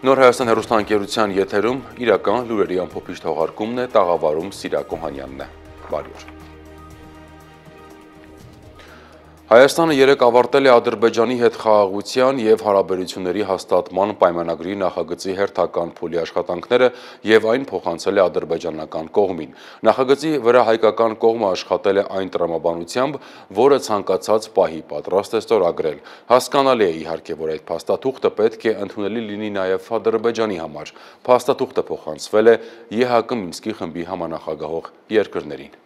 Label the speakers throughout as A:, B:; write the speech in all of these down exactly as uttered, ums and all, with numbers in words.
A: Նոր Հայաստան հեռուստաընկերության եթերում իրական լուրերի ամփոփիչ թողարկումն է, տաղավարում Սիրակ Օհանյանն է։ Բարի օր։ Հայաստանը երեկ ավարտել է Ադրբեջանի հետ խաղաղության և հարաբերությունների հաստատման պայմանագրի նախագծի հերթական փուլի աշխատանքները և այն փոխանցել է ադրբեջանական կողմին։ Նախագծի վրա հայկական կողմը աշխատել է այն տրամաբանությամբ, որը ցանկացած պահի պատրաստ է ստորագրել։ Հասկանալի է իհարկե, որ այդ փաստաթուղթը պետք է ընդունելի լինի նաև Ադրբեջանի համար։ Փաստաթուղթը փոխանցվել է ԵՀԿ Մինսկի խմբի համանախագահող երկրներին։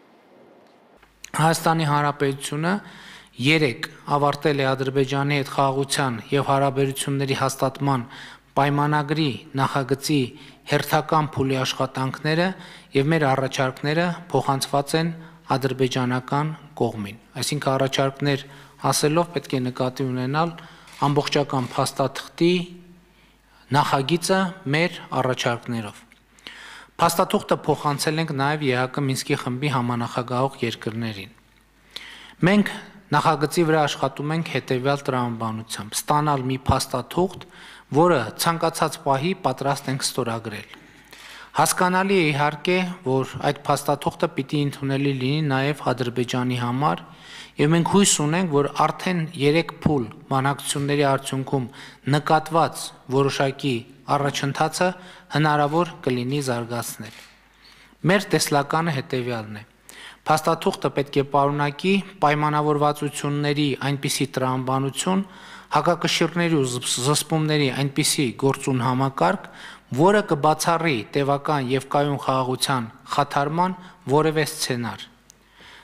B: Հայաստանի Հանրապետությունը երեկ ավարտել է Ադրբեջանի հետ խաղաղության և հարաբերությունների հաստատման պայմանագրի նախագծի հերթական փուլի աշխատանքները և մեր առաջարկները փոխանցված են ադրբեջանական կողմին։ Այսինքն առաջարկներ ասելով պետք է նկատի ունենալ ամբողջական փաստաթղթի նախագիծը մեր առաջարկներով։ Փաստաթուղթը փոխանցել ենք նաև ԵՀԿ Մինսկի խմբի համանախագահող երկրներին։ Մենք նախագծի վրա աշխատում ենք հետևյալ տրամաբանությամբ՝ ստանալ մի փաստաթուղթ, որը ցանկացած պահի պատրաստ ենք ստորագրել։ Հասկանալի է իհարկե, որ այդ փաստաթուղթը պիտի ընդունելի լինի նաև Ադրբեջանի համար, եւ մենք հույս ունենք, որ արդեն երեք փուլ բանակցությունների արդյունքում նկատված որոշակի առաջընթացը հնարավոր կլինի զարգացնել։ Մեր տեսլականը հետևյալն է. Փաստաթուղթը պետք է պարունակի պայմանավորվածությունների այնպիսի տրամաբանություն, հակակշիռների ու զսպումների այնպիսի գործուն համակարգ, որը կբացառի տևական եւ կայուն խաղաղության խաթարման որևէ սցենար։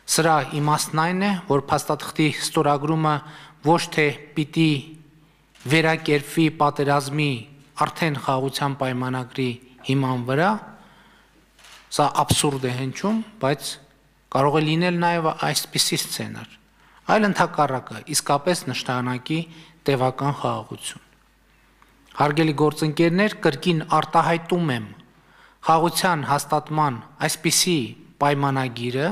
B: Սրա իմաստն այն է, որ փաստաթղթի ստորագրումը ոչ թե պիտի վերակերպվի պատերազմի արդեն խաղաղության պայմանագրի հիման վրա, սա աբսուրդ է հնչում, բայց կարող է լինել նաև այսպիսի սցենար, այլ ընդհակառակը իսկապես նշանակի տևական խաղաղություն։ Հարգելի գործընկերներ, կրկին արտահայտում եմ խաղաղության հաստատման այսպիսի պայմանագիրը,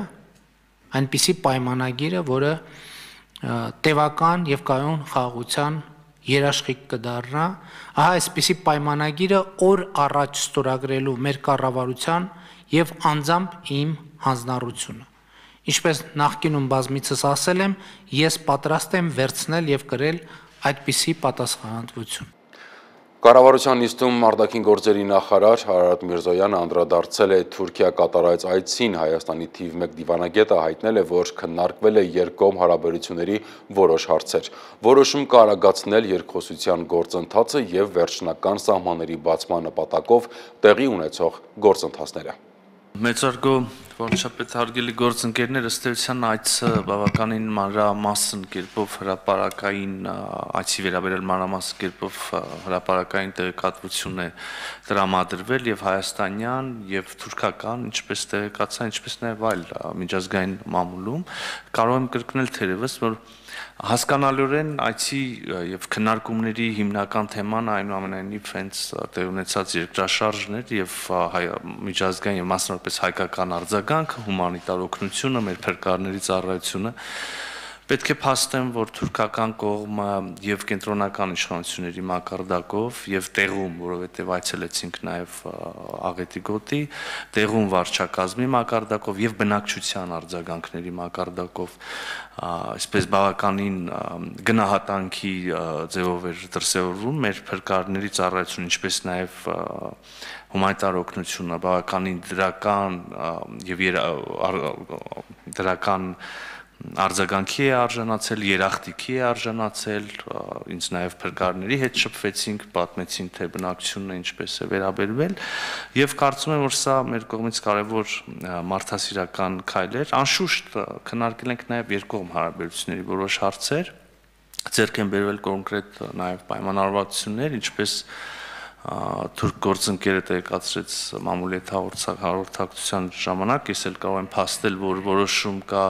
B: այնպիսի պայմանագիրը, որը տևական եւ կայուն խաղաղության երաշխիք կդառնա, ահա այսպիսի պայմանագիրը օր առաջ ստորագրելու մեր կառավարության եւ անձամբ իմ հանձնառությունը։ Ինչպես նախկինում բազմիցս ասել եմ, ես պատրաստ եմ վերցնել եւ կրել այդպիսի պատասխանատվություն։
A: Կառավարության նիստում արտաքին գործերի նախարար Արարատ Միրզոյանը անդրադարձել է Թուրքիա կատարած այցին Հայաստանի թիվ մեկ դիվանագետը հայտնել է, որ քննարկվել է երկկողմ հարաբերությունների որոշ հարցեր։ Որոշում կա արագացնել երկխոսության գործընթացը եւ վերջնական սահմանների բացման նպատակով տեղի ունեցող գործընթացները։
C: Մեծարգո վարչապետ հարգելի գործընկերներ, ըստ էության այցը բավականին մանրամասն կերպով հրապարակային այցի վերաբերյալ մանրամասն կերպով հրապարակային տեղեկատվություն է տրամադրվել եւ հայաստանյան եւ թուրքական, ինչպես տեղեկացա, ինչպես նաեւ այլ միջազգային մամուլում։ Կարող եմ կրկնել թերևս, որ հասկանալիորեն այցի եւ քննարկումների հիմնական թեման այնուամենայնիվ հենց տեղ ունեցած երկրաշարժն էր եւ միջազգային եւ մասնավորապես հայկական արձագանքը, հումանիտար օգնությունը, մեր փրկարարների ծառայությունը։ Պետք է փաստեմ, որ թուրքական կողմը եւ կենտրոնական իշխանությունների մակարդակով եւ տեղում, որովհետեւ այցելեցինք նաեւ աղետի գոտի, տեղում վարչակազմի մակարդակով եւ բնակչության արձագանքների մակարդակով այսպես բավականին գնահատանքի ձևով էր դրսևորվում մեր փրկարարների ծառայությունը, ինչպես նաեւ հումանիտար օգնությունը բավականին դրական եւ դրական արձագանքի է արժանացել, երախտիքի է արժանացել, ինձ նաև փրկարարների հետ շփվեցինք, պատմեցին, թե բնակչությունը ինչպես է վերաբերվել եւ կարծում եմ, որ սա մեր կողմից կարեւոր մարդասիրական քայլ էր։ Անշուշտ քննարկել ենք նաև երկկողմ հարաբերությունների որոշ հարցեր, ձեռք են բերվել կոնկրետ նաև պայմանավորվածություններ, ինչպես թուրք գործընկերը տեղեկացրեց մամուլի հետ հաղորդակցության ժամանակ, ես էլ կարող եմ փաստել, որ որոշում կա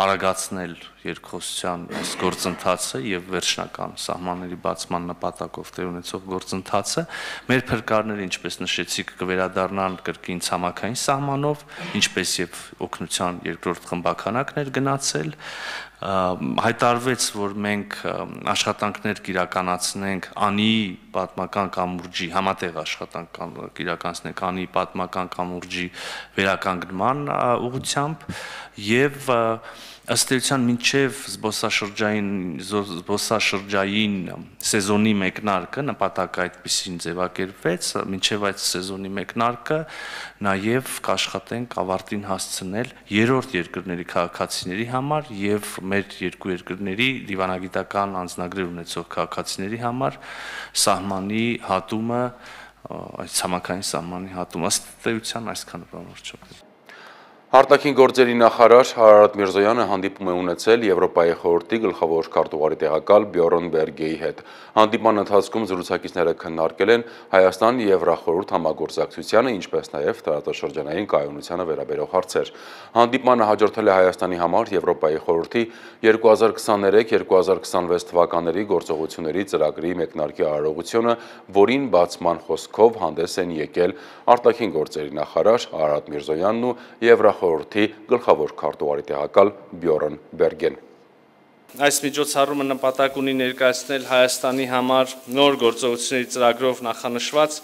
C: արագացնել երկխոսության այս գործընթացը եւ վերջնական սահմանների բացման նպատակով տեղ ունեցող գործընթացը մեր փրկարները, ինչպես նշեցիք, կվերադառնան կրկին ցամաքային սահմանով, ինչպես եւ օգնության երկրորդ խմբականակներ գնացել, հայտարարվեց, որ մենք աշխատանքներ կիրականացնենք անի պատմական կամուրջի, համատեղ աշխատանք կիրականացնենք անի պատմական կամուրջի վերականգնման ուղղությամբ եւ ըստ էության մինչև զբոսաշրջային զբոսաշրջային սեզոնի մեկնարկը նպատակը այդպեսին ձևակերպվեց, մինչև այդ սեզոնի մեկնարկը նաև կաշխատենք ավարտին հասցնել երրորդ երկրների քաղաքացիների համար եւ մեր երկու երկրների դիվանագիտական անձնագրեր ունեցող քաղաքացիների համար սահմանի հատումը, այդ ցամաքային սահմանի հատումը ըստ էության այսքանը բանորոշում։
A: Արտաքին գործերի նախարար Արարատ Միրզոյանը հանդիպում է ունեցել Եվրոպայի խորհրդի գլխավոր քարտուղարի տեղակալ Բյորն Բերգեի հետ։ Հանդիպման ընթացքում զրուցակիցները քննարկել են Հայաստան-Եվրախորհուրդ համագործակցությանը, ինչպես նաև տարածաշրջանային կայունությանը վերաբերող հարցեր։ Հանդիպմանը հաջորդել է Հայաստանի համար Եվրոպայի խորհրդի երկու հազար քսաներեք երկու հազար քսանվեց թվականների գործողությունների ծրագրի մեկնարկի արարողությունը, որին բացման խոսքով հանդես են եկել արտաքին գործերի նախարար Արարատ Միրզոյանն ու Եվրախորհրդի գլխավոր քարտուղարի տեղակալ Բյորն Բերգեն։
C: Այս միջոցառումը նպատակ ունի ներկայացնել Հայաստանի համար նոր գործողությունների ծրագրով նախանշված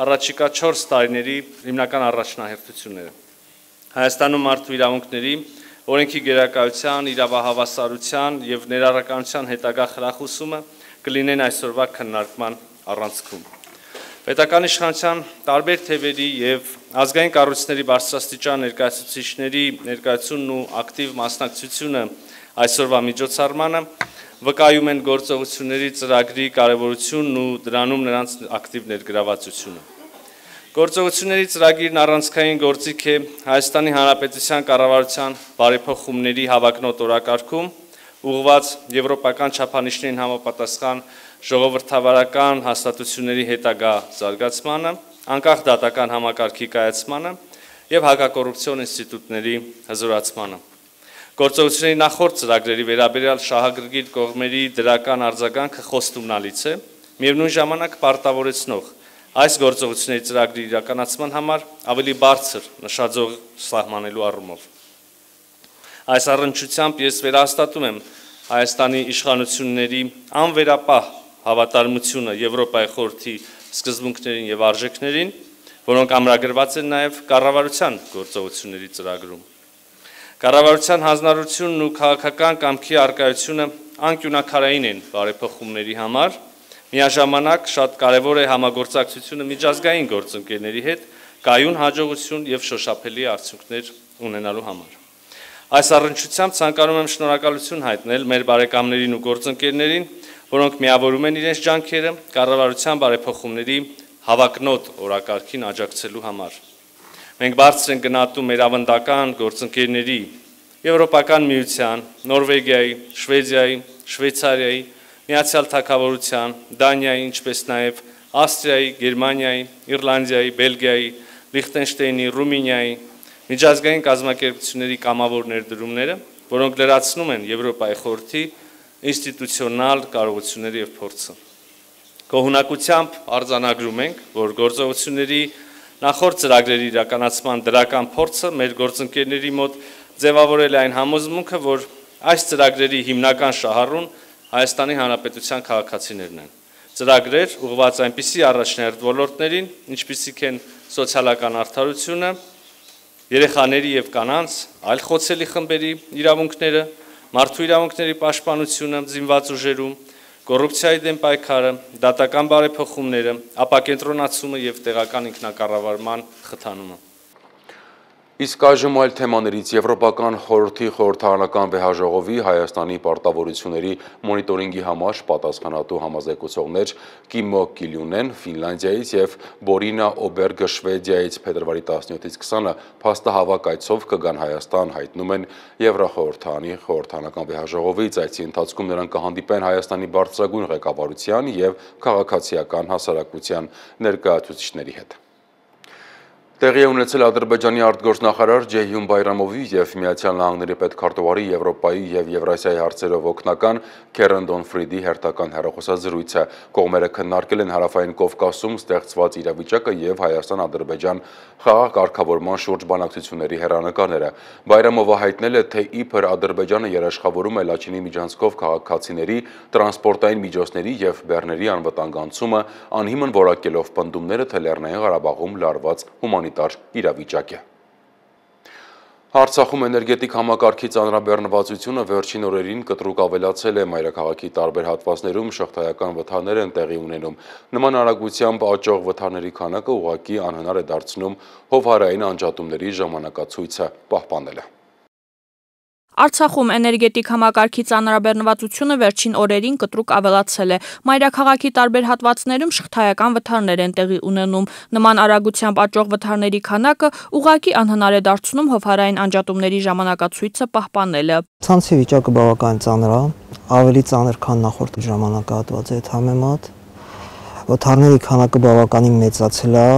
C: առաջիկա չորս տարիների հիմնական առաջնահերթությունները։ Հայաստանում մարդու իրավունքների, օրենքի գերակայության, իրավահավասարության եւ ներառականության հետագա խրախուսումը կլինեն այսօրվա քննարկման առանցքում։ Պետական իշխանության տարբեր թևերի եւ ազգային կառույցների բարձրաստիճան ներկայացուցիչների ներկայությունն ու ակտիվ մասնակցությունը այսօրվա միջոցառմանը վկայում են գործողությունների ծրագրի կարևորությունն ու դրանում նրանց ակտիվ ներգրավվածությունը։ Գործողությունների ծրագիրն առանցքային գործիք է Հայաստանի Հանրապետության կառավարության բարեփոխումների հավակնոտ օրակարգում, ուղղված եվրոպական չափանիշներին համապատասխան ժողովրդավարական հաստատությունների հետագա զարգացմանը, անկախ դատական համակարգի կայացմանը եւ հակակոռուպցիոն ինստիտուտների հզորացմանը։ Գործողությունների նախորդ ծրագրերի վերաբերյալ շահագրգիռ կողմերի դրական արձագանքը խոստումնալից է, միևնույն ժամանակ պարտավորեցնող այս գործողությունների ծրագրի իրականացման համար ավելի բարձր նշաձող սահմանելու առումով։ Այս առնչությամբ ես վերահաստատում եմ Հայաստանի իշխանությունների անվերապահ հավատարմությունը Եվրոպայի խորհրդի սկզբունքներին եւ արժեքներին, որոնք ամրագրված են նաեւ կառավարության գործողությունների ծրագրում։ Կառավարության հանձնառությունն ու քաղաքական կամքի արկայությունը անկյունակարային են բարեփոխումների համար, միաժամանակ շատ կարևոր է համագործակցությունը միջազգային գործընկերների հետ կայուն հաջողություն եւ շոշափելի արդյունքներ ունենալու համար։ Այս առնչությամբ ցանկանում եմ շնորհակալություն հայտնել մեր բարեկամներին ու գործընկերներին, որոնք միավորում են իրենց ջանքերը կառավարության բարեփոխումների հավակնոտ օրակարգին աջակցելու համար։ Մենք բարձր ենք գնահատում մեր ավանդական գործընկերների Եվրոպական միության, Նորվեգիայի, Շվեդիայի, Շվեյցարիայի, Միացյալ Թագավորության, Դանիայի, ինչպես նաև Ավստրիայի, Գերմանիայի, Իռլանդիայի, Բելգիայի, Լիխտենշտեյնի, Ռումինիայի միջազգային կազմակերպությունների կամավոր ներդրումները, որոնք լրացնում են Եվրոպայի խորհրդի ինստիտուցիոնալ կարողությունները եւ փորձը։ Գոհունակությամբ արձանագրում ենք, որ գործողությունների նախորդ ծրագրերի իրականացման դրական փորձը մեր գործընկերների մոտ ձևավորել է այն համոզմունքը, որ այս ծրագրերի հիմնական շահառուն Հայաստանի Հանրապետության քաղաքացիներն են։ Ծրագրեր ուղղված այնպիսի առաջնահերթ ոլորտներին, ինչպիսիք են սոցիալական արդարությունը, երեխաների եւ կանանց, այլ խոցելի խմբերի իրավունքները, մարդու իրավունքների պաշտպանությունը զինված ուժերում, կոռուպցիայի դեմ պայքարը, դատական բարեփոխումները, ապակենտրոնացումը եւ տեղական ինքնակառավարման խթանումը։
A: Իսկ այժմ այլ թեմաներից Եվրոպական խորհրդի խորհրդարանական վեհաժողովի Հայաստանի պարտավորությունների մոնիտորինգի համար պատասխանատու համազեկուցողներ Կիմո Կիլյունեն Ֆինլանդիայից եւ Բորինա Օբերգը Շվեդիայից փետրվարի տասնյոթից քսանը փաստահավաք այցով կգան Հայաստան, հայտնում են Եվրախորհրդանի խորհրդարանական վեհաժողովից։ Այցի ընթացքում նրանք կհանդիպեն Հայաստանի բարձրագույն ղեկավարության եւ քաղաքացիական հասարակության ներկայացուցիչների հետ։ Տեղի է ունեցել Ադրբեջանի արտգործնախարար Ջեյհուն Բայրամովի և Միացյալ Նահանգների պետքարտուղարի Եվրոպայի և Եվրասիայի հարցերով օգնական Քերեն Դոնֆրիդի հերթական հեռախոսազրույցը։ Կողմերը քննարկել են Հարավային Կովկասում ստեղծված իրավիճակը և Հայաստան-Ադրբեջան խաղաղ կարգավորման շուրջ բանակցությունների հեռանկարները։ Բայրամովը հայտնել է, թե իբր Ադրբեջանը երաշխավորում է Լաչինի միջանցքով քաղաքացիների, տրանսպորտային միջոցների և բեռների անվտանգ անցումը, անհիմն որակելով պնդումները, թե Լեռնային Ղարաբաղում լարված հումանիտար իրավիճակ է։ Արցախում էներգետիկ համակարգի ծանրաբեռնվածությունը վերջին օրերին կտրուկ ավելացել է, մայրաքաղաքի տարբեր հատվածներում շղթայական վթարներ են տեղի ունենում։ Նման արագությամբ աճող վթարների քանակը ուղղակի անհնար է դարձնում հովհարային անջատումների ժամանակացույցը պահպանելը։
D: Արցախում էներգետիկ համակարգի ծանրաբեռնվածությունը վերջին օրերին կտրուկ ավելացել է։ Մայրաքաղաքի տարբեր հատվածներում շղթայական վթարներ են տեղի ունենում։ Նման արագությամբ աճող վթարների քանակը ուղղակի անհնար է դարձնում հովհարային անջատումների ժամանակացույցը պահպանելը։
E: Ցանցի վիճակը բավական ծանր է, ավելի ծանր, քան նախորդ ժամանակահատվածի հետ համեմատ։ Վթարների քանակը բավականին մեծացել է,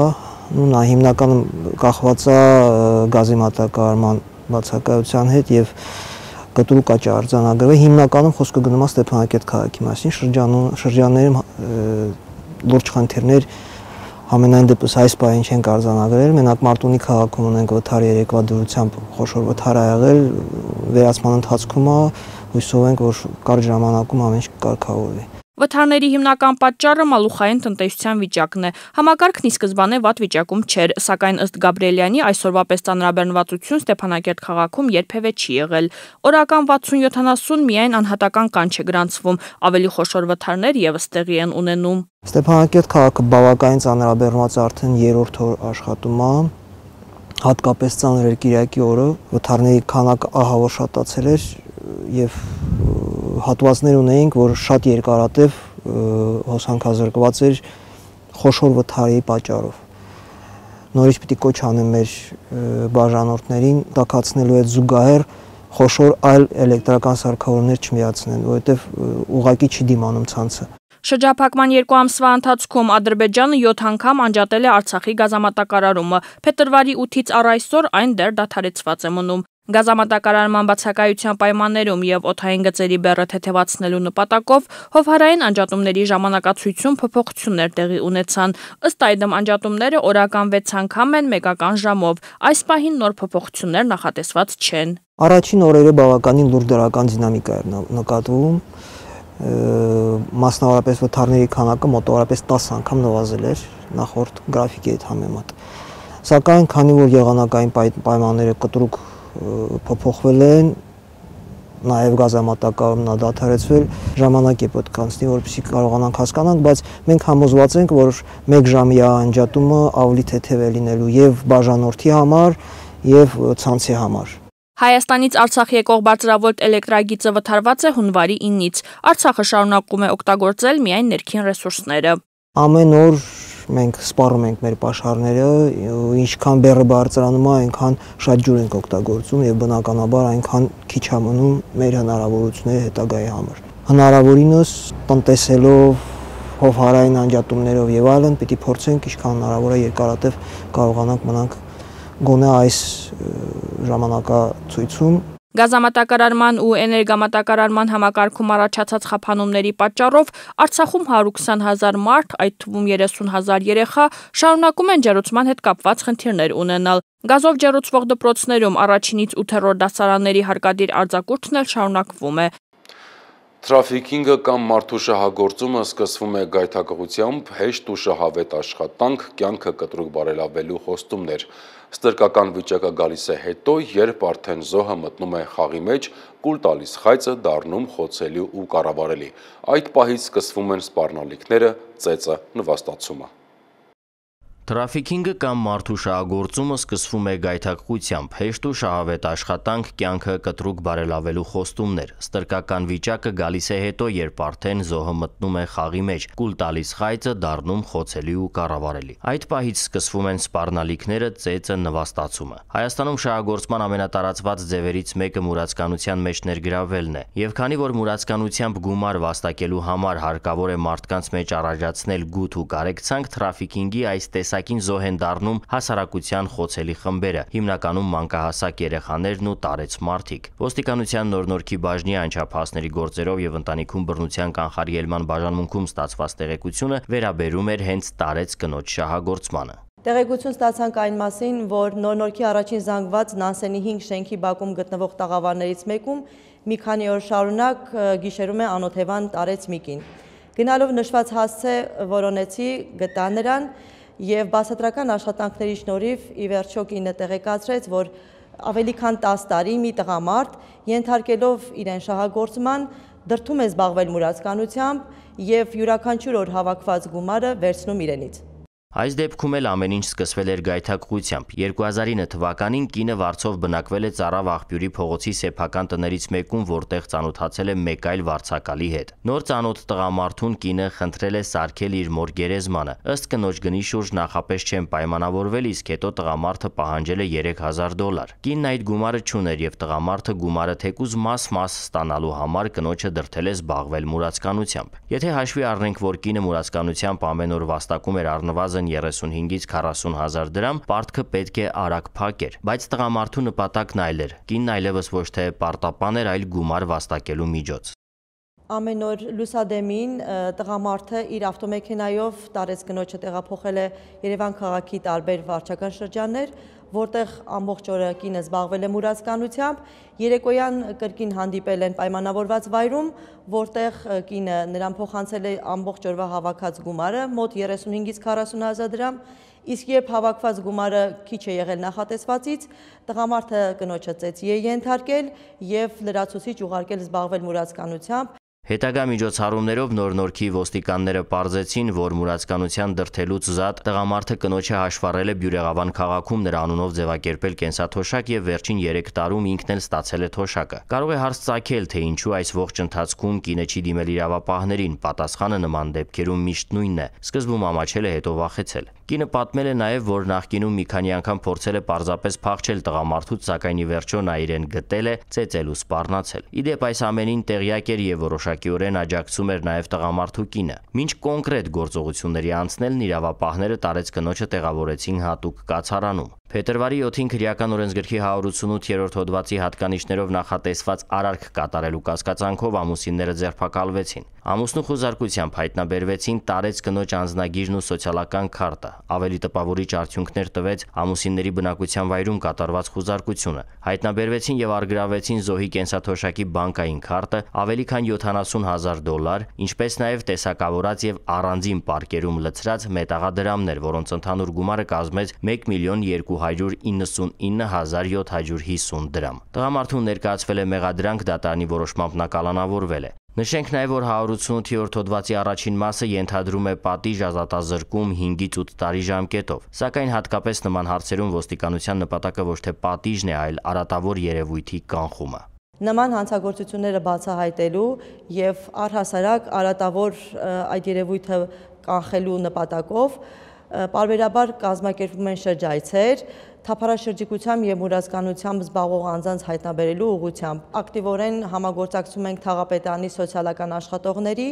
E: նա հիմնականում կախված է գազի մատակարարման բացակայության հետ եւ կտրուկ աճ արձանագրվել։ Հիմնականում խոսքը գնում է Ստեփանակերտ քաղաքի մասին, շրջաններում լուրջ խնդիրներ համենայն դեպս այս պահին չենք արձանագրել։ Մենակ Մարտունի քաղաքում ունենք վթար երեկվա դրությամբ խոշոր վթար ա եղել, վերացման ընթացքում է, հույսով ենք, որ կարճ ժամանակում ամեն ինչ կկարգավորվի։
D: Վթարների հիմնական պատճառը մալուխային տնտեսության վիճակն է։ Համակարգն ի սկզբանե վատ վիճակում չէր, սակայն ըստ Գաբրիելյանի այսօրվա պես ծանրաբեռնվածություն Ստեփանակերտ քաղաքում երբևէ չի եղել։ Օրական վաթսուն յոթանասուն միայն անհատական կան չէ գրանցվում, ավելի խոշոր վթարներ եւս տեղի են ունենում։
E: Ստեփանակերտ քաղաքը բավականին ծանրաբեռնված արդեն երրորդ օր աշխատում է, հատկապես ծանր էր Կիրակի օրը, վթարների քանակը ահավոր շատացել էր եւ հատվածներ ունեինք, որ շատ երկարատև հոսանքազրկված էր խոշոր վթարի պատճառով։ Նորից պիտի կոչ անեմ մեր բաժանորդներին տաքացնելու այդ զուգահեռ խոշոր այլ էլեկտրական սարքավորումներ չմիացնեն, որովհետև ուղղակի չի դիմանում ցանցը։
D: Շրջափակման երկու ամսվա ընթացքում Ադրբեջանը յոթ անգամ անջատել է Արցախի գազամատակարարումը։ Փետրվարի ութից առ այսօր այն դեռ դադարեցված է մնում։ Գազամատակարարման բացակայության պայմաններում եւ օդային գծերի բեռը թեթևացնելու նպատակով հովհարային անջատումների ժամանակացույցում փոփոխություններ տեղի ունեցան։ Ըստ այդմ անջատումները օրական վեց անգամ են մեկական ժամով։ Այս պահին նոր փոփոխություններ նախատեսված չեն։
E: Առաջին օրերը բավականին լուրջ դրական դինամիկա էր նկատվում։ Մասնավորապես վթարների քանակը մոտավորապես տասը անգամ նվազել էր նախորդ գրաֆիկի հետ համեմատ։ Սակայն քանի որ եղանակային պայմանները կտրուկ փոփոխվել են, նաև գազամատակարարումն է դադարեցվել, ժամանակ է պետք անցնի, որպեսզի կարողանանք հասկանանք, բայց մենք համոզված ենք, որ մեկ ժամյա անջատումը ավելի թեթև է լինելու եւ բաժանորդի համար եւ ցանցի համար։
D: Հայաստանից Արցախ եկող բարձրավոլտ էլեկտրագիծը վթարված է հունվարի իննից։ Արցախը շարունակում է օգտագործել միայն ներքին ռեսուրսները։
E: Ամեն օր մենք սպառում ենք մեր պաշարները, ինչքան բեռը բարձրանում է, այնքան շատ ջուր ենք օգտագործում եւ բնականաբար այնքան քիչ է մնում մեր հնարավորությունները հետագայի համար։ Հնարավորինս տնտեսելով, հովհարային անջատումներով եւ այլն, պիտի փորձենք ինչքան հնարավոր է երկարատև կարողանանք մնանք գոնե այս ժամանակացույցում։
D: Գազամատակարարման ու էներգամատակարարման համակարգում առաջացած խափանումների պատճառով Արցախում հարյուր քսան հազար մարդ, այդ թվում երեսուն հազար երեխա, շարունակում են ջեռուցման հետ կապված խնդիրներ ունենալ։ Գազով ջեռուցվող դպրոցներում առաջինից ութերորդ դասարանների հարկադիր արձակուրդն էլ շարունակվում է։
A: Թրաֆիքինգը կամ մարդու շահագործումը սկսվում է գայթակղությամբ, հեշտ ու շահավետ աշխատանք, կյանքը կտրուկ բարելավելու խոստումներ։ Ստրկական վիճակը գալիս է հետո, երբ արդեն զոհը մտնում է խաղի մեջ, կուլ տալիս խայծը դառնում խոցելի ու կառավարելի։ Այդ պահից սկսվում են սպառնալիքները, ծեծը, նվաստացումը։
F: Թրաֆիքինգը կամ մարդու շահագործումը սկսվում է գայթակղությամբ, հեշտ ու շահավետ աշխատանք, կյանքը կտրուկ բարելավելու խոստումներ։ Ստրկական վիճակը գալիս է հետո, երբ արդեն զոհը մտնում է խաղի մեջ, կուլ տալիս խայծը դառնում խոցելի ու կառավարելի։ Այդ պահից սկսվում են սպառնալիքները, ծեծը, նվաստացումը։ Հայաստանում շահագործման ամենատարածված ձևերից մեկը մուրացկանության մեջ ներգրավվելն է, եւ քանի որ մուրացկանությամբ գումար վաստակելու համար հարկավոր է մարդկանց մեջ առաջացնել գութ ու կարեկցանք, թրաֆիքինգի այս տեսակ տեսակին զոհ են դառնում հասարակության խոցելի խմբերը, հիմնականում մանկահասակ երեխաներն ու տարեց մարդիկ։ Ոստիկանության նոր-նորքի բաժնի անչափահասների գործերով եւ ընտանիքում բռնության կանխարգելման բաժանմունքում ստացված տեղեկությունը վերաբերում էր հենց տարեց կնոջ շահագործմանը։
G: Տեղեկություն ստացանք այն մասին, որ նոր-նորքի առաջին զանգված Նանսենի հինգ շենքի բակում գտնվող տաղավարներից մեկում մի քանի օր շարունակ գիշերում է անօթևան տարեց մի կին։ Գնալով նշված հասցե որոնեցի, գտա նրան եւ բացատրական աշխատանքների շնորհիվ ի վերջո կինը տեղեկացրեց, որ ավելի քան տասը տարի մի տղամարդ ենթարկելով իրեն շահագործման դրդում է զբաղվել մուրացկանությամբ եւ յուրաքանչյուր օր հավաքված գումարը վերցնում իրենից։
F: Այս դեպքում էլ ամեն ինչ սկսվել էր գայթակղությամբ։ երկու հազար ինը թվականին կինը վարձով բնակվել է Ծառավ աղբյուրի փողոցի սեփական տներից մեկում, որտեղ ծանոթացել է մեկ այլ վարձակալի հետ։ Նոր ծանոթ տղամարդուն կինը խնդրել է սարքել իր մոր գերեզմանը։ Ըստ կնոջ գնի շուրջ նախապես չեն պայմանավորվել, իսկ հետո տղամարդը պահանջել է երեք հազար դոլար։ Կինն այդ գումարը չուներ եւ տղամարդը գումարը թեկուզ մաս-մաս ստանալու համար կնոջը դրդել է զբաղվել մուրացկանությամբ։ Եթե հաշվի առնենք, որ կինը մուրացկանությամբ ամեն օր վաստակում էր առնվազն երեսունհինգից քառասուն հազար դրամ, պարտքը պետք է արագ փակեր, բայց տղամարդու նպատակն այլ էր։ Կինն այլևս ոչ թե պարտապան էր, այլ գումար վաստակելու միջոց։
G: Ամեն օր լուսադեմին տղամարդը իր ավտոմեքենայով տարեց կնոջը տեղափոխել է Երևան քաղաքի տարբեր վարչական շրջաններ, որտեղ ամբողջ օրը կինը զբաղվել է մուրացկանությամբ, երեկոյան կրկին հանդիպել են պայմանավորված վայրում, որտեղ կինը նրան փոխանցել է ամբողջ օրվա հավաքած գումարը, մոտ երեսունհինգից քառասուն հազար դրամ, իսկ երբ հավաքված գումարը քիչ է եղել նախատեսվածից, տղամարդը կնոջը ծեծի է ենթարկել եւ լրացուցիչ ուղարկել զբաղվել մուրացկանությամբ։
F: Հետագա միջոցառումներով նոր-նորքի ոստիկանները պարզեցին, որ մուրացկանության դրդելուց զատ տղամարդը կնոջը հաշվառել է Բյուրեղավան քաղաքում նրա անունով ձևակերպել կենսաթոշակ եւ վերջին երեք տարում ինքն էլ ստացել է թոշակը։ Կարող է հարց ծագել, թե ինչու այս ողջ ընթացքում կինը չի դիմել իրավապահներին, պատասխանը նման դեպքերում միշտ նույնն է։ Սկզբում ամաչել է, հետո վախեցել։ Կինը պատմել է նաև, որ նախկինում մի քանի անգամ փորձել է պարզապես փախչել տղամարդուց, սակայն ի վերջո նա իրեն գտել է, ծեծել ու սպառնացել։ Իդեպ այս ամենին տեղյակ էր եւ որոշակիորեն աջակցում էր նաև տղամարդու կինը։ Մինչ կոնկրետ գործողությունների անցնելն իրավապահները տարեց կնոջը տեղավորեցին հատուկ կացարանում։ Փետրվարի յոթին քրեական օրենսգրքի հարյուր ութսունութ-րդ հոդվածի հատկանիշներով նախատեսված արարք կատարելու կասկածանքով ամուսինները ձերբակալվեցին։ Ամուսնու խուզարկությամբ հայտնաբերվեցին տարեց կնոջ անձնագիրն ու սոցիալական քարտը։ Ավելի տպավորիչ արդյունքներ տվեց ամուսինների բնակության վայրում կատարված խուզարկությունը։ Հայտնաբերվեցին եւ առգրավվեցին զոհի կենսաթոշակի բանկային քարտը, ավելի քան յոթանասուն հազար դոլար, ինչպես նաեւ տեսակավորած եւ առանձին պարկերում լցրած մետաղադրամներ, որոնց ընդհանուր գումարը կազմեց մեկ միլիոն երկու հարյուր իննսունինը հազար յոթ հարյուր հիսուն դրամ։ Տղամարդուն ներկայացվել է մեղադրանք, դատարանի որոշմամբ նա կալանավորվել է։ Նշենք նաև, որ հարյուր ութսունութ-րդ հոդվածի առաջին մասը ենթադրում է պատիժ ազատազրկում հինգից ութ տարի ժամկետով։ Սակայն հատկապես նման հարցերում ոստիկանության նպատակը ոչ թե պատիժն է, այլ արատավոր երևույթի կանխումը։
G: Նման հանցագործությունները բացահայտելու եւ առհասարակ արատավոր այդ երևույթը կանխելու նպատակով պարբերաբար կազմակերպվում են շրջայցեր, թափառաշրջիկությամբ եւ մուրացկանությամբ զբաղվող անձանց հայտնաբերելու ուղղությամբ։ Ակտիվորեն համագործակցում ենք Թաղապետարանի սոցիալական աշխատողների,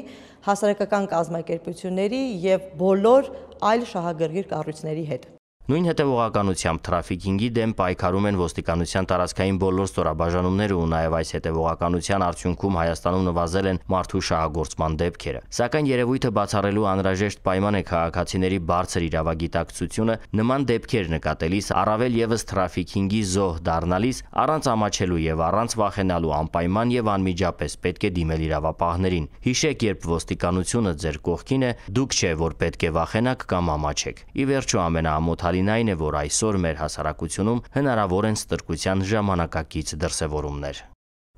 G: հասարակական կազմակերպությունների եւ բոլոր այլ շահագրգիռ կառույցների հետ։
F: Նույն հետևողականությամբ թրաֆիքինգի դեմ պայքարում են ոստիկանության տարածքային բոլոր ստորաբաժանումները ու նաև այս հետևողականության արդյունքում Հայաստանում նվազել են մարդու շահագործման դեպքերը։ Սակայն երևույթը բացառելու անհրաժեշտ պայման է քաղաքացիների բարձր իրավագիտակցությունը, նման դեպքեր նկատելիս, առավել եւս թրաֆիքինգի զոհ դառնալիս, առանց ամաչելու եւ առանց վախենալու անպայման եւ անմիջապես պետք է դիմել իրավապահներին։ Հիշեք, երբ ոստիկանությունը ձեր կողքին է, դուք չէ, որ պետք է վախենաք կամ ամաչեք։ Ի վերջո ամենաամոթ այն է, որ այսօր մեր հասարակությունում հնարավոր են ստրկության ժամանակակից դրսևորումներ։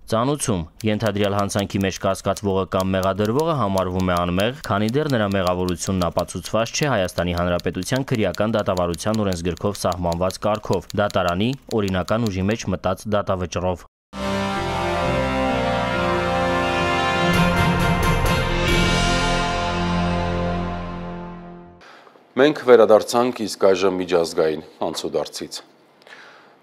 F: Ծանուցում ենթադրյալ հանցանքի մեջ կասկածվողը կամ մեղադրվողը համարվում է անմեղ, քանի դեռ նրա մեղավորությունն ապացուցված չէ Հայաստանի Հանրապետության քրեական դատավարության օրենսգրքով սահմանված կարգով, դատարանի օրինական ուժի մեջ մտած դատավճռով։
A: Մենք վերադարձանք իսկ այժմ միջազգային անցուդարձից։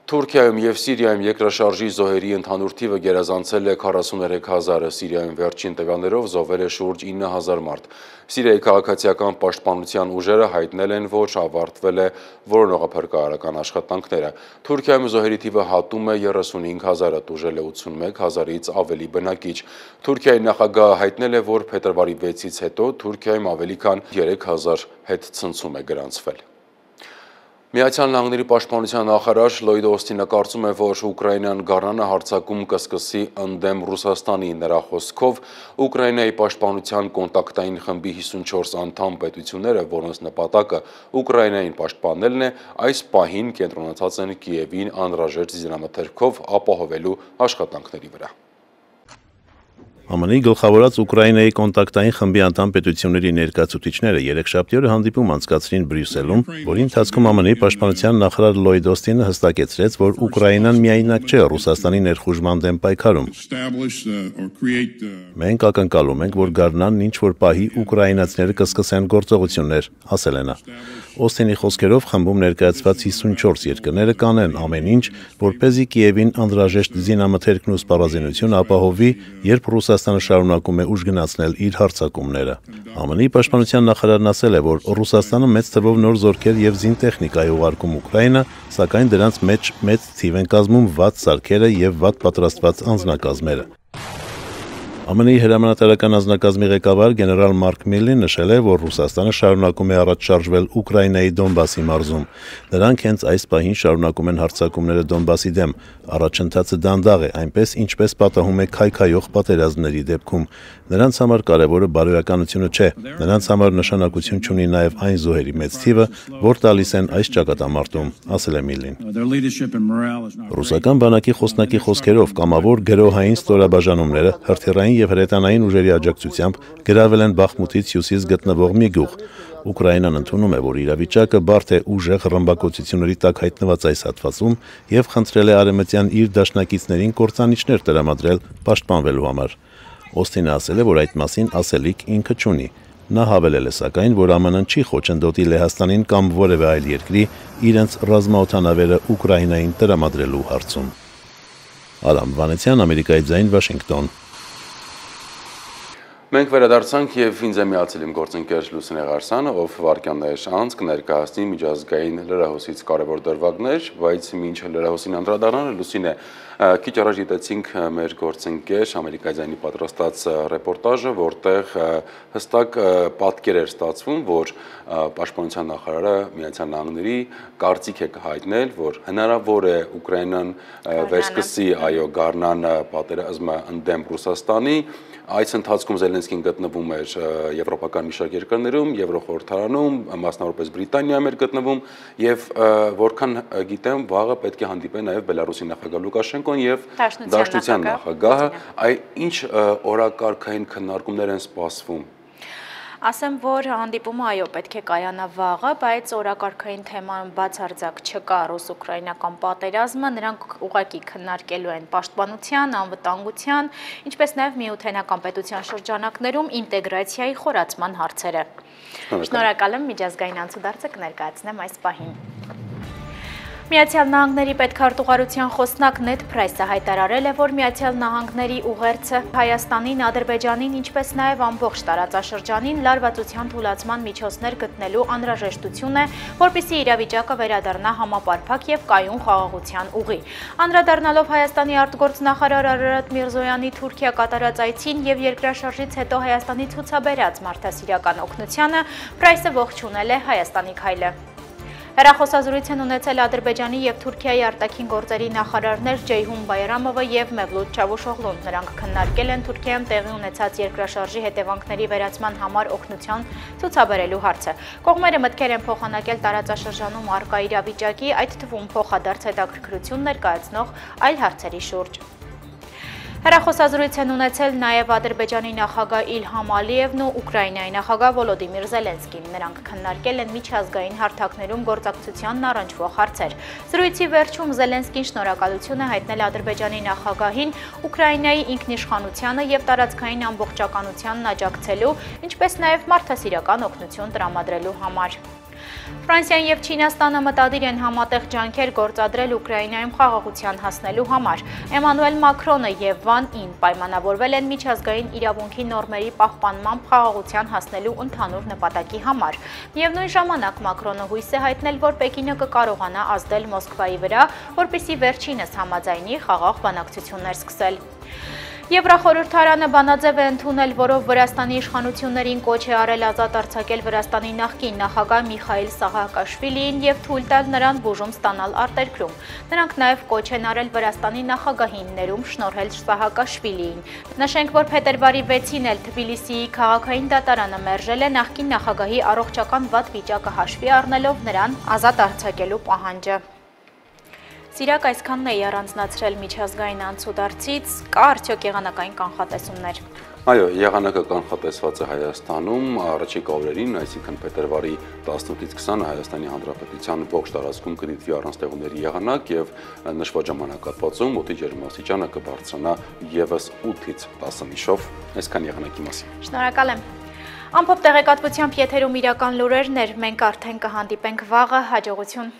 A: Թուրքիայում եւ Սիրիայում երկրաշարժի զոհերի ընդհանուր թիվը գերազանցել է քառասուներեք հազարը, Սիրիայում վերջին տվյալներով զոհվել է շուրջ ինը հազար մարդ։ Սիրիայի քաղաքացիական պաշտպանության ուժերը հայտնել են, որ ավարտվել է որոնողափրկարարական աշխատանքները։ Թուրքիայում զոհերի թիվը հատում է երեսունհինգ հազարը, տուժել է ութսունմեկ հազարից ավելի բնակիչ։ Թուրքիայի նախագահը հայտնել է, որ փետրվարի վեցից հետո Թուրքիայում ավելի քան երեք հազար հետ ցնցում է գրանցվել։ Միացյալ Նահանգների պաշտպանության նախարար Լոյդ Օսթինը կարծում է, որ Ուկրաինան գարնանը հարձակում կսկսի ընդդեմ Ռուսաստանի։ Նրա խոսքով Ուկրաինայի պաշտպանության կոնտակտային խմբի հիսունչորս անդամ պետությունները, որոնց նպատակը Ուկրաինային պաշտպանելն է, այս պահին կենտրոնացած են Կիևին անհրաժեշտ զինամթերքով ապահովելու աշխատանքների վրա։
H: Է Մ Ն-ի գլխավորած Ուկրաինայի կոնտակտային խմբի անդամ պետությունների ներկայացուցիչները երեքշաբթի օրը հանդիպում անցկացրին Բրյուսելում, որի ընթացքում Է Մ Ն-ի պաշտպանության նախարար Լոյդ Օսթինը հստակեցրեց, որ Ուկրաինան միայնակ չէ Ռուսաստանի ներխուժման դեմ պայքարում։ Մենք ակնկալում ենք, որ գարնանն ինչ որ պահի ուկրաինացիները կսկսեն գործողություններ, ասել է նա։ Օսթինի խոսքերով խմբում ներկայացված հիսունչորս երկրները կանեն ամեն ինչ, որպեսզի Կիևին անհրաժեշտ զինամթերքն ու սպառազինությունը ապահովի, երբ Ռուսաստանը շարունակում է ուժգնացնել իր հարձակումները։ Է Մ Ն-ի պաշտպանության նախարարն ասել է, որ Ռուսաստանը մեծ թվով նոր զորքեր եւ զինտեխնիկա է ուղարկում Ուկրաինա, սակայն դրանց մեջ մեծ թիվ են կազմում վատ սարքերը եւ վատ պատրաստված անձնակազմերը։ Է Մ Ն-ի հրամանատարական անձնակազմի ղեկավար գեներալ Մարկ Միլլին նշել է, որ Ռուսաստանը շարունակում է առաջ շարժվել Ուկրաինայի Դոնբասի մարզում։ Նրանք հենց այս պահին շարունակում են հարձակումները Դոնբասի դեմ։ Առաջընթացը դանդաղ է, այնպես ինչպես պատահում է քայքայող պատերազմների դեպքում։ Նրանց համար կարևորը բարոյականությունը չէ։ Նրանց համար նշանակություն չունի նաև այն զոհերի մեծ թիվը, որ տալիս են այս ճակատամարտում, ասել է Միլլին։ Ռուսական բանակի խոսնակի խոսքերով կամավոր գրոհային ստորաբաժանումները հրթիռային եւ հրետանային ուժերի աջակցությամբ գրավել են Բախմուտից հյուսիս գտնվող մի գյուղ։ Ուկրաինան ընդունում է, որ իրավիճակը բարդ է ուժեղ ռմբակոծությունների տակ հայտնված այս հատվածում եւ խնդրել է արևմտյան իր դաշնակիցներին կործանիչներ տրամադրել պաշտպանվելու համար։ Օսթինը ասել է, որ այդ մասին ասելիք ինքը չունի։ Նա հավելել է սակայն, որ Է Մ Ն-ն չի խոչընդոտի Լեհաստանին կամ որևէ այլ երկրի իրենց ռազմաօդանավերը Ուկրաինային տրամադրելու հարցում։ Արամ Վանեցյան, Ամերիկայի ձայն, Վաշինգտոն։
A: Մենք վերադարձանք եւ ինձ է միացել իմ գործընկեր Լուսինե Ղարսյանը, ով վարքյաններ անց կներկայացնի միջազգային լրահոսից կարևոր դրվագներ, բայց մինչ լրահոսին անդրադառնալը Լուսինե, քիչ առաջ դիտեցինք մեր գործընկեր Ամերիկայի ձայնի պատրաստած ռեպորտաժը, որտեղ հստակ պատկեր էր ստացվում, որ պաշտպանության նախարարը Միացյալ Նահանգների կարծիք է հայտնել, որ հնարավոր է Ուկրաինան վերսկսի այո գարնան պատերազմը ընդդեմ Ռուսաստանի։ Այս ընթացքում Զելենսկին գտնվում էր եվրոպական մի շարք երկրներում, Եվրոխորհրդարանում, մասնավորապես Բրիտանիայում էր գտնվում եւ որքան գիտեմ, վաղը պետք է հանդիպեն նաեւ Բելարուսի նախագահ Լուկաշենկոն եւ Դաշնության նախագահը, այ ինչ օրակարգային քննարկումներ են սպասվում։
I: Ասեմ, որ հանդիպումը այո պետք է կայանա վաղը, բայց օրակարգային թեման բացարձակ չկա ռուս-ուկրաինական պատերազմը, նրանք ուղղակի քննարկելու են պաշտպանության, անվտանգության, ինչպես նաև միութենական պետության շրջանակներում ինտեգրացիայի խորացման հարցերը։ Շնորհակալ եմ, միջազգային անցուդարձը կներկայացնեմ այս պահին։ Միացյալ Նահանգների պետքարտուղարության խոսնակ Նեդ Փրայսը հայտարարել է, որ Միացյալ Նահանգների ուղերձը Հայաստանին, Ադրբեջանին, ինչպես նաև ամբողջ տարածաշրջանին լարվածության թույլատման միջոցներ գտնելու անհրաժեշտություն է, որպեսզի իրավիճակը վերադառնա համապարփակ եւ կայուն խաղաղության ուղի։ Անդրադառնալով Հայաստանի արտգործնախարար Արարատ Միրզոյանի Թուրքիա կատարած այցին եւ երկրաշարժից հետո Հայաստանի ցուցաբերած մարդասիրական օգնությանը, Փրայսը ողջունել է Հայաստանի քայլը։ Հեռախոսազրույց են ունեցել Ադրբեջանի եւ Թուրքիայի արտաքին գործերի նախարարներ Ջեյհուն Բայրամովը եւ Մևլութ Չավուշօղլուն։ Նրանք քննարկել են Թուրքիայում տեղի ունեցած երկրաշարժի հետևանքների վերացման համար օգնության ցուցաբերելու հարցը։ Կողմերը մտքեր են փոխանակել տարածաշրջանում առկա իրավիճակի, այդ թվում փոխադարձ հետաքրքրություն ներկայացնող այլ հարցերի շուրջ։ Հեռախոսազրույց են ունեցել նաև Ադրբեջանի նախագահ Իլհամ Ալիևն ու Ուկրաինայի նախագահ Վոլոդիմիր Զելենսկին։ Նրանք քննարկել են միջազգային հարթակներում գործակցությանն առնչվող հարցեր։ Զրույցի վերջում Զելենսկին շնորհակալություն է հայտնել Ադրբեջանի նախագահին Ուկրաինայի ինքնիշխանությանը եւ տարածքային ամբողջականությանն աջակցելու, ինչպես նաև մարդասիրական օգնություն տրամադրելու համար։ Ֆրանսիան եւ Չինաստանը մտադիր են համատեղ ջանքեր գործադրել Ուկրաինայում խաղաղության հասնելու համար։ Էմանուել Մակրոնը եւ Վան Ին պայմանավորվել են միջազգային իրավունքի նորմերի պահպանմամբ խաղաղության հասնելու ընդհանուր նպատակի համար։ Միևնույն ժամանակ Մակրոնը հույս է հայտնել, որ Պեկինը կկարողանա ազդել Մոսկվայի վրա, որպեսզի վերջինս համաձայնի խաղաղ բանակցություններ սկսել։ Եվրախորհրդարանը բանաձև է ընդունել, որով Վրաստանի իշխանություններին կոչ է արել ազատ արձակել Վրաստանի նախկին նախագահ Միխայիլ Սահակաշվիլիին եւ թույլ տալ նրան բուժում ստանալ արտերկրում։ Նրանք նաեւ կոչ են արել Վրաստանի նախագահին ներում շնորհել Սահակաշվիլիին։ Նշենք, որ փետրվարի վեցին էլ Թբիլիսիի քաղաքային դատարանը մերժել է նախկին նախագահի առողջական վատ վիճակը հաշվի առնելով նրան ազատ արձակելու պահանջը։ Սիրակ այսքանն էի առանձնացրել միջազգային անցուդարձից, կա արդյոք եղանակային կանխատեսումներ։
A: Այո, եղանակը կանխատեսված է Հայաստանում առաջիկա օրերին, այսինքն փետրվարի տասնութից քսանը Հայաստանի Հանրապետության ողջ տարածքում կդիտվի առանձնեղումների եղանակ եւ նշված ժամանակահատվածում օդի ջերմաստիճանը կբարձրանա եւս ութից տասը միշով։ Այսքան եղանակի մասին։
I: Շնորհակալ եմ։ Ամփոփ տեղեկատվությամբ եթերում իրական լուրերն էր, մենք արդեն կհանդիպենք վաղը, հաջողություն։